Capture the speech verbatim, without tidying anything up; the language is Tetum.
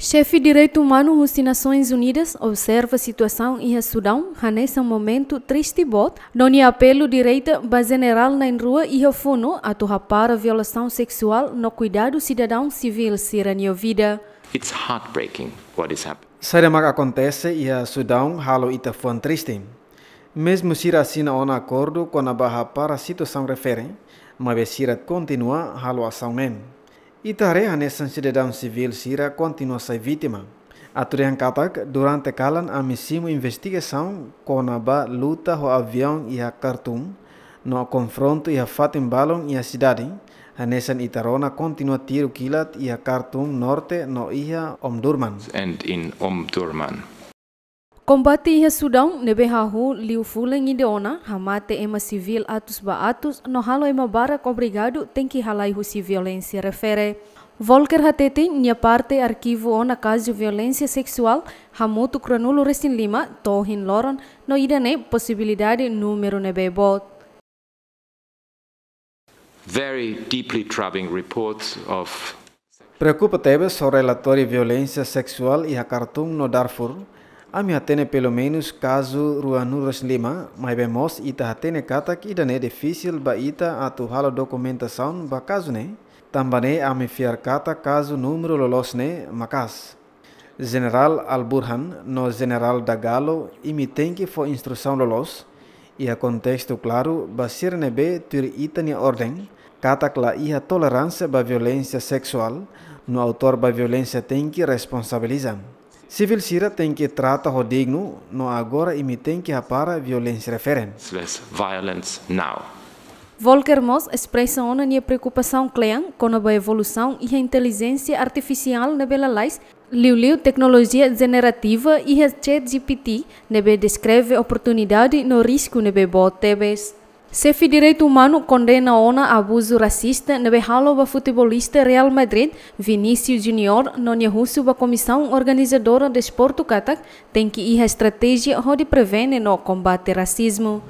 Xefe Direitu Umanu husi Nasoins Unidas observa situasaun iha Sudaun hanesan momentu triste boot, no nia apelu direta ba jenerál na'in-rua iha funu atu hapara violasaun seksuál no kuidadu sidadaun sivíl sira-nia vida. It's heartbreaking what is happening. Saida mak akontese iha Sudaun halo ita fuan triste. Mezmu sira asina ona akordu kona-ba hapara situasaun refere, maibé sira kontinua halo asaun ne'e. Ita haree hanesan sidadaun sivíl sira kontinua sai vítima. Atu dehan katak, durante kalan ami simu investigasaun kona-ba luta ho aviaun iha Khartoum, no konfrontu iha fatin balun iha sidade, hanesan ita rona kontinua tiru kilat iha Khartoum norte no iha Omdurman. And in Omdurman. Kombate iha Sudaun ne'ebé hahú liu fulan ida ona, hamate ema sivíl atus ba atus, no halo ema barak obrigadu tenke halai husi violénsia refere. Volker hatete nia parte arkivu ona kazu violénsia seksuál hamutuk ruanulu-resin-lima to'o ohin loron, no ida-ne'e posibilidade númeru ne'ebé boot. Very deeply troubling reports of Preokupa tebes ho relatóriu violénsia seksuál iha Khartoum no Darfur, ami hatene pelumenus kazu ruanulu-resin-lima, maibé mós ita hatene katak ida-ne'e difisil ba ita atu halo dokumentasaun ba kazu ne'e, tanba ne'e ami fiar katak kazu númeru loloos ne'e maka'as. Jenerál Al-Burhan no Jenerál Dagalo, imi tenke fó instrusaun loloos, iha kontestu klaru ba sira ne'ebé tuir ita-nia orden, katak la iha toleránsia ba violénsia seksuál, no autór ba violénsia tenke responsabiliza. Sivíl sira tenke trata ho dignu, no agora imi tenke hapara violénsia refere. Less violence now. Volker mós espresa ona nia preokupasaun kle'an kona-ba evolusaun iha intelijénsia artifisiál ne'ebé lalais, liuliu teknolojia jenerativa iha ChatGPT, ne'ebé deskreve oportunidade no risku ne'ebé boot tebes. Xefe Direitu Umanu kondena ona abuzu rasista ne'ebé halo ba futebolista Real Madrid, Vinicius Junior, no nia husu ba Komisaun Organizadora Desportu katak tenke iha estratéjia hodi prevene no kombate rasizmu.